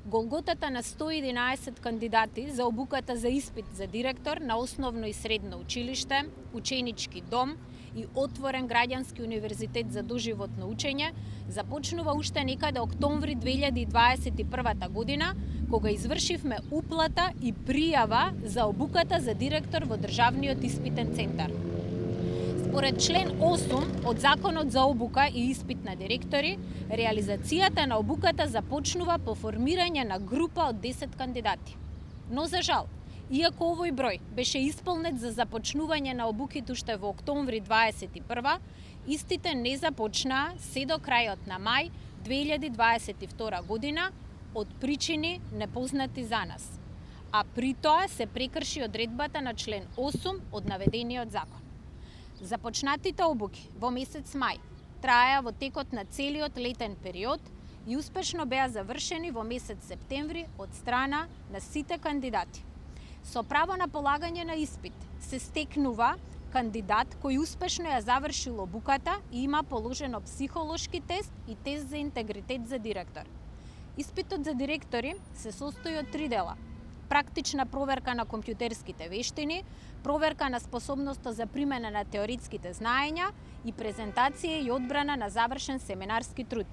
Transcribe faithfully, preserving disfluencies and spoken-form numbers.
Голготата на сто и единаесет кандидати за обуката за испит за директор на основно и средно училиште, ученички дом и отворен граѓански универзитет за доживотно учење започнува уште некаде октомври две илјади и дваесет и прва година, кога извршивме уплата и пријава за обуката за директор во Државниот испитен центар. Според член осум од Законот за обука и испит на директори, реализацијата на обуката започнува по формирање на група од десет кандидати. Но за жал, иако овој број беше исполнет за започнување на обуките уште во октомври дваесет и прва, истите не започнаа се до крајот на мај две илјади дваесет и втора година од причини непознати за нас, а при тоа се прекрши одредбата на член осум од наведениот закон. Започнатите обуки во месец мај траеа во текот на целиот летен период и успешно беа завршени во месец септември од страна на сите кандидати. Со право на полагање на испит се стекнува кандидат кој успешно ја завршил обуката и има положено психолошки тест и тест за интегритет за директор. Испитот за директори се состои од три дела: практична проверка на компјутерските вештини, проверка на способноста за примена на теоретските знаења и презентација и одбрана на завршен семинарски труд.